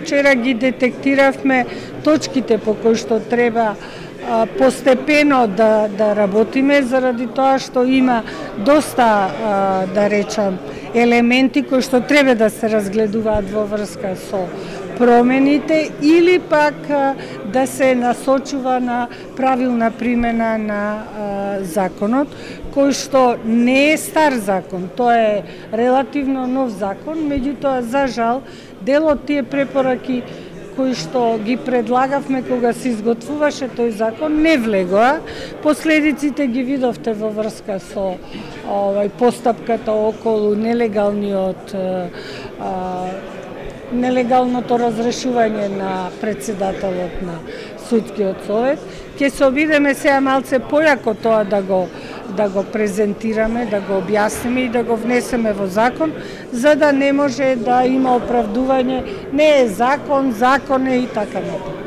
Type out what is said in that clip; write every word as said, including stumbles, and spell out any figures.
Вчера ги детектиравме точките по кои што треба а, постепено да, да работиме, заради тоа што има доста, а, да речам, елементи кои што треба да се разгледуваат во врска со промените или пак а, да се насочува на правилна примена на а, законот, кој што не е стар закон, тоа е релативно нов закон, меѓутоа, за жал, дел од тие препораки кои што ги предлагавме кога се изготвуваше тој закон не влегоа. Последиците ги видовте во врска со овај постапката околу нелегалниот а, нелегалното разрешување на претседателот на судскиот совет. Ќе се обидеме сега малце појако тоа да го да го презентираме, да го објасниме и да го внесеме во закон, за да не може да има оправдување, не е закон, закон е и така натаму.